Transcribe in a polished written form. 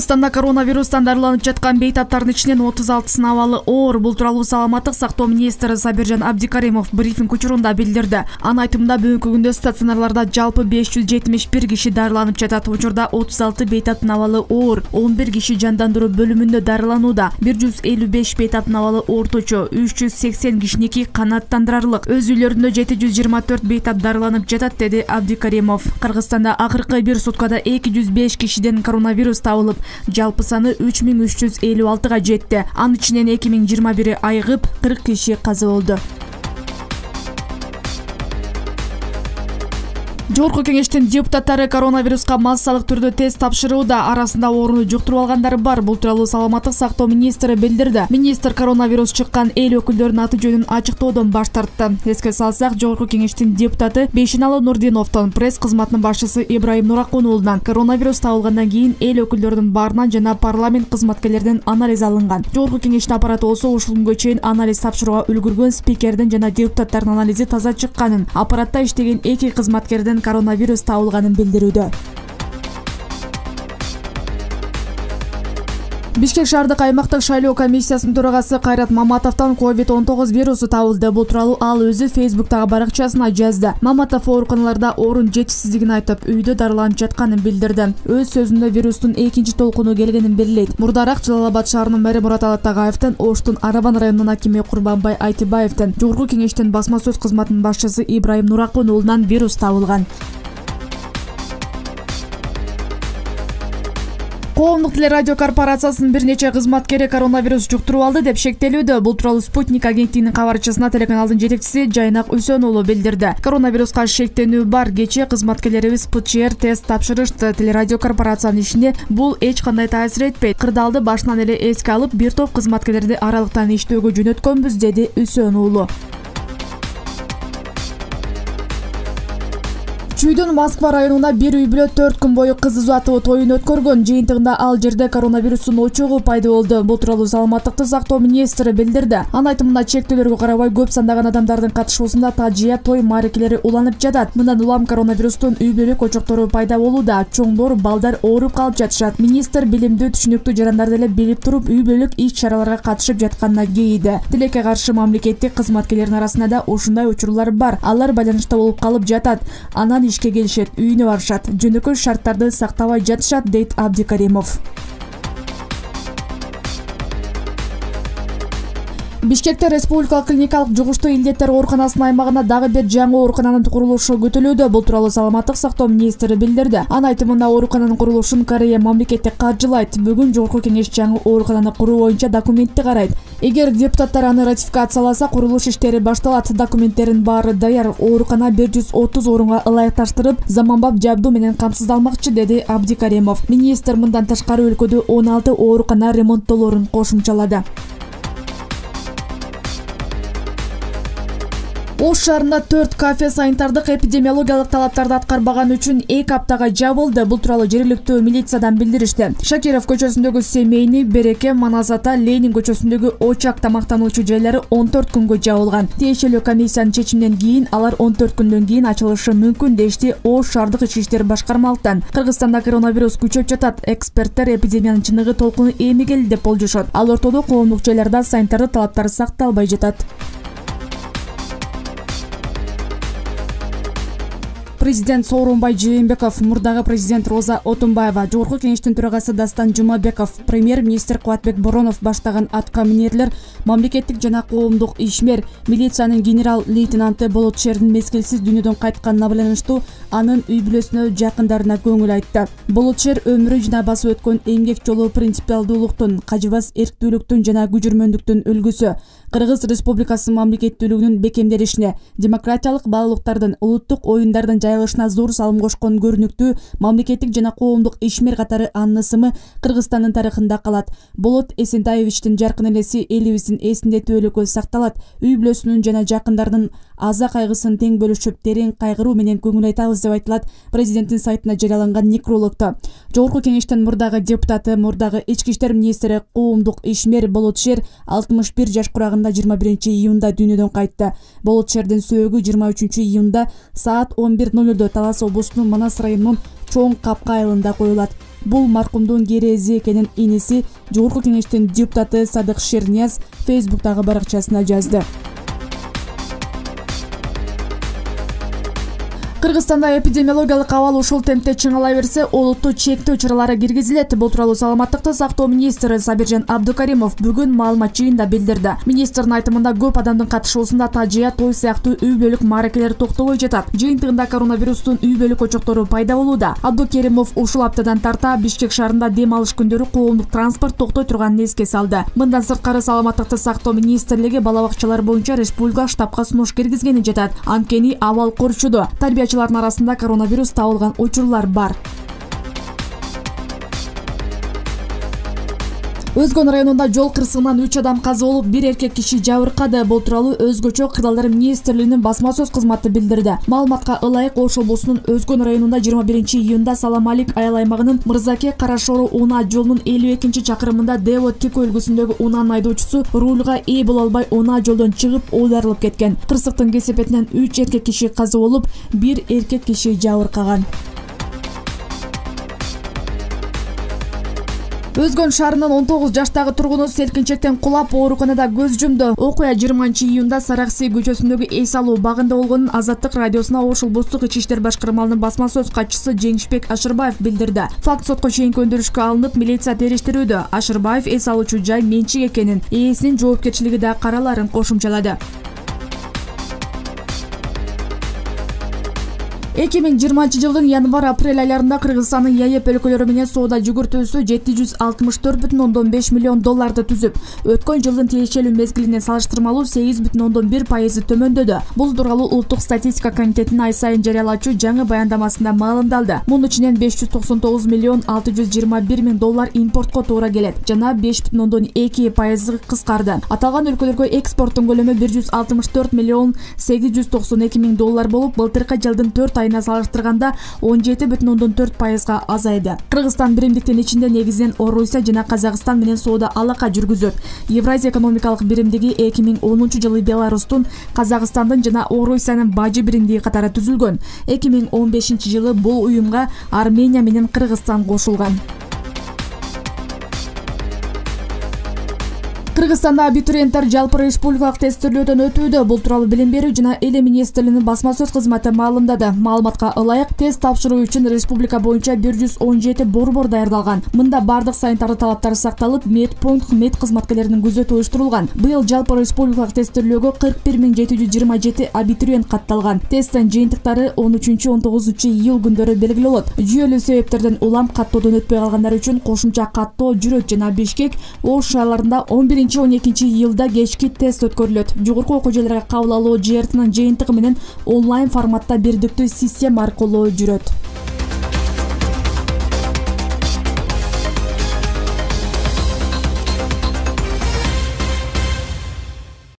Кыргызстанда коронавирустан дарыланып жаткан бейтаптардын ичинен 36 абалы оор. Бул тууралуу саламаттык сактоо министри Сабиржан Абдикаримов брифинг учурунда билдирди. Анын айтымында бүгүнкү күндө стационарларда жалпы 571 киши дарыланып жатат. Учурда 36 бейтаптын абалы оор, 11 киши жандандыруу бөлүмүндө дарыланууда. 155 бейтаптын абалы орточо, 380 кишиники канааттандырарлык. Өз үйлөрүндө 724 бейтап дарыланып жатат, деди Абдикаримов. Кыргызстанда акыркы бир суткада 205 кишиден коронавирус табылып, жалпы саны 3356-га жетти. Анын ичинен 2021 айыгып, 40 киши каза болду. Жогорку кеңештин депутаттары коронавируска массалык түрдө тест тапшырууда. Арасында ооруну жуктуруп алгандар бар. Бул тууралуу саламаттык сактоо министри билдирди. Министр коронавирус чыккан эл өкүлдөрүнүн аты жөнүн ачыктоодон баш тартты. Эске салсак, Жогорку кеңештин депутаты Бейшеналы Нурдиновдон, пресс кызматынын башчысы Ибрайым Нуракунуулунан коронавирус табылгандан кийин эл өкүлдөрүнүн баарынан жана парламент кызматкерлеринен анализ алынган. Жогорку кеңештин аппараты болсо ушул күнгө чейин анализ тапшырууга үлгүргөн спикердин жана депутаттардын анализи таза чыкканын, аппаратта иштеген 2 кызматкердин коронавирус табылганын билдирүүдө. Бишкек шаардык аймактык шайлоо комиссиясынын төрагасы Кайрат Маматовдон COVID-19 вирусу табылды. Бул тууралуу ал өзү Фейсбуктагы баракчасына жазды. Маматов ооруканаларда орун жетишсиздигин айтып, үйдө дарыланып жатканын билдирди. Өз сөзүндө вирустун экинчи толкуну келгенин белгилейт. Мурдараак Жалал Абад шаарынын мэри Мурат Алатагаевдин, Оштун Арабан районунун акими Курбанбай Айтыбаевдин, Жогорку кеңештин басма сөз кызматынын башчысы Ибрайым Нуракунуулунан вирус табылган. Коомдук телерадио корпорациясынын бир нече кызматкери коронавирус жуктуруп алды деп шектелүүдө. Бул тууралуу Спутник агенттигинин кабарчысына телеканалдын жетекчиси Жайнак Үсөн уулу билдирди. Коронавируска шектенүү бар. Кечээ кызматкерлерибиз ПЧР тест тапшырышты. Телерадио корпорациянын ишине бул эч кандай таасир этпейт. Кырдаалды башынан эле эске алып, бир топ кызматкерлерди аралыктан иштөөгө жөнөткөнбүз, деди Үсөн уулу. Чүйдүн Москва районуна бир үй бүлө 4 күн бою кыз узатуу тоюн өткөргөн. Жыйынтыгында ал жерде коронавирустун очогу пайда болду. Бул тууралуу саламаттыкты сактоо министри билдирди. Анын айтымында, чектөөлөргө карабай көп сандаган адамдардын катышуусунда тажыя той мааракелери уланып жатат. Мындан улам коронавирустун үй бүлөлүк очоктору пайда болууда. Чоңдор, балдар ооруп калып жатышат. Министр билимдүү, түшүнүктүү жарандарды эле билип туруп, үй бүлөлүк иш-чараларга катышып жатканына кейиди. Тилекке каршы мамлекеттик кызматкерлердин арасында да ушундай учурлар бар. Алар байланышта болуп калып жатат. Анан ишке келишет, үйүнө барышат, жөнөкөй шарттарды сактабай жатышат, дейт Абдикаримов. Бишкекте республикалык клиникалык жугуштуу илдеттер ооруканасынын аймагына дагы бир жаңы оорукананын курулушу күтүлүүдө. Бул тууралуу саламаттык сактоо министри билдирди. Анын айтымында, оорукананын курулушун Корея мамлекети каржылайт. Бүгүн Жогорку кеңеш жаңы оорукананы куруу боюнча документти карайт. Эгер депутаттар аны ратификацияласа, курулуш иштери башталат. Документтерин баары даяр. Оорукана 130 орунга ылайыкташтырып, заманбап жабдуу менен камсыздалмакчы, деди Абдикаримов. Министр мындан тышкары өлкөдө 16 оорукана ремонттолоорун кошумчалады. Ош шаарында 4 кафе санитардык эпидемиологиялык талаптарды аткарбаган үчүн 2 аптага жабылды. Бул тууралуу жергиликтүү милициядан билдиришти. Шакиров көчөсүндөгү Семейный, Береке, Маназата, Ленин көчөсүндөгү Очак тамактануучу жайлары 14 күнгө жабылган. Тиешелүү комиссиянын чечиминен кийин алар 14 күндөн кийин ачылышы мүмкүн, дешти Ош шаардык ички иштер башкармалыктан. Кыргызстанда коронавирус күчөп жатат. Эксперттер эпидемиянын чыныгы толкуну эми келди деп болжошот. Ал ортодо коомдук жайларда санитардык талаптар сакталбай жатат. Президент Сооронбай Жээнбеков, мурдагы президент Роза Отунбаева, Жогорку кеңештин төрагасы Дастан Жумабеков, премьер-министр Кубатбек Боронов баштаган аткаминерлер, мамлекеттик жана коомдук ишмер, милициянын генерал-лейтенанты Болот Шердин мезгилсиз дүйнөдөн кайтканына байланыштуу анын үй бүлөсүнө, жакындарына көңүл айтты. Болот Шер өмүрү жана басып өткөн эмгек жолу принципиалдуулуктун, кажыбас эрктүүлүктүн жана күжүрмөндүктүн үлгүсү. Кыргыз Республикасынын мамлекеттүүлүгүнүн бекемделишине, демократиялык баалуулуктардын, улуттук оюндардын жайылышына зор салым кошкон көрүнүктүү мамлекеттик жана коомдук ишмер катары анын ысымы Кыргызстандын тарыхында калат. Болот Эсентаевичтин жаркын элеси элибиздин эсинде түбөлүккө сакталат. Үй бүлөсүнүн жана жакындарынын аза кайгысын тең бөлүшүп, терең кайгыруу менен көңүл айтабыз деп айтылат президенттин сайтына жарыяланган некрологдо. Жогорку кеңештин мурдагы депутаты, мурдагы ички иштер министри, коомдук ишмер Болот Шер 61 жаш курагында 21 июнда дүйнөдөн кайтты. Болот Шердин сөөгү 23 июнда саат 11:00 Талас облусунун Манас районунун Чоң Капка айылында коюлат. Бул маркумдун керези экенин иниси Жогорку Кеңештин депутаты Садык Шернияз Фейсбуктагы баракчасына жазды. Кыргызстанда эпидемиологиялык абал ушул темпте чыңалай берсе, олуттуу чектөө чаралары киргизилет. Бул тууралуу Саламаттыкты сактоо министри Сабиржан Абдукаримов бүгүн маалымат жыйынында билдирди. Министрдин айтымында көп адамдын катышуусунда тажыя, той сыяктуу үй бүлүк мааракелер токтобой жатат. Жыйынтыгында коронавирустун үй бүлүк очоктору пайда болууда. Абдукаримов ушул аптадан тарта Бишкек шаарында дем алыш күндөрү коомдук транспорт токтой турганын эске салды. Мындан сырткары Саламаттыкты сактоо министрлиги бала бакчалар боюнча республикалык штабка сунуш киргизгени жатат. Анткени абал корчуду. Тарбиячылардын арасында коронавирус табылган учурлар бар. Өзгөн районунда жол кырсыгынан 3 адам каза болуп, 1 эркек киши жабыркады. Бул тууралуу Өзгөчө кырдаалдар министрлигинин басма сөз кызматы билдирди. Маалыматка ылайык Ош облусунун Өзгөн районунда 21-июнда Саламалик айыл аймагынын Мырзаке Карашору унаа жолунун 52-чакырымында Дево Тико үлгүсүндөгү унаанын айдоочусу рулга ээ боло албай унаа жолдон чыгып оодарылып кеткен. Кырсыктын кесепетинен 3 эркек киши каза болуп, 1 эркек киши жабыркаган. Өзгөн шаарынын 19 жаштагы тургуну селкинчектен кулап ооруканада көз жумду. Окуя 20-июнда Саракси көчөсүндөгү эс алуу багында болгонун Азаттык радиосуна Ош облустук ички иштер башкармалыгынын басма сөз катчысы Жеңишбек Ашырбаев билдирди. Факт сотко чейинки өндүрүшкө алынып, милиция териштирүүдө. Ашырбаев эс алуучу жай менчик экенин, ээсинин жоопкерчилиги да караларын кошумчалады. 2020-жылдын январь-апрель айларында Кыргызстандын ЯЭП өлкөлөрү менен соода жүгүртүүсү $764,5 миллион түзүп, өткөн жылдын тиешелүү мезгилине салыштырмалуу 8,1% төмөндөдү. Бул тууралуу Улуттук статистика комитетинин ай сайын жарыялачу жаңы баяндамасында маалымдалды. Мунун ичинен $599,621,000 импортко туура келет жана 5,2% кыскарды. Аталган өлкөлөргө экспорттун көлөмү $164,892,000 болуп, былтыркы жылдын 4 айына салыштырганда 17,4%га азайды. Кыргызстан биримдиктин ичинде негизинен Орусия жана Казакстан менен соода алака жүргүзөт. Евразия экономикалык биримдиги 2010 жылы Беларустун, Казакстандын жана Орусиянын бажы биримдиги катары түзүлгөн. 2015 жылы бул уюмга Армения менен Кыргызстан кошулган. Кыргызстанда абитуриенттер жалпы республикалык тестирлөөдөн өтүүдө. Бул тууралуу Билим берүү жана Эли министрлигинин басма сөз кызматы маалымдады. Маалыматка ылайык тест тапшыруу үчүн республика боюнча 117 борбор даярдалган. Мында бардык санитардык талаптар сакталып, медпункт, мед кызматкерлеринин күзөтү уюштурулган. Быйыл жалпы республикалык тестирлөөгө 41,727 абитуриент катталган. Тесттин жыйынтыктары 13-19 июль күндөрү белгилүү болот. Жүйөлүү себептерден улам каттоодон өтпөй калгандар үчүн кошумча каттоо жүрөт жана Бишкек, Ош шаарларында 11-12 июлда кечки тест өткөрүлөт. Жогорку окуу жайларга кабыл алуу ЖРТнын жыйынтыгы менен онлайн форматта бирдиктүү система аркылуу жүрөт.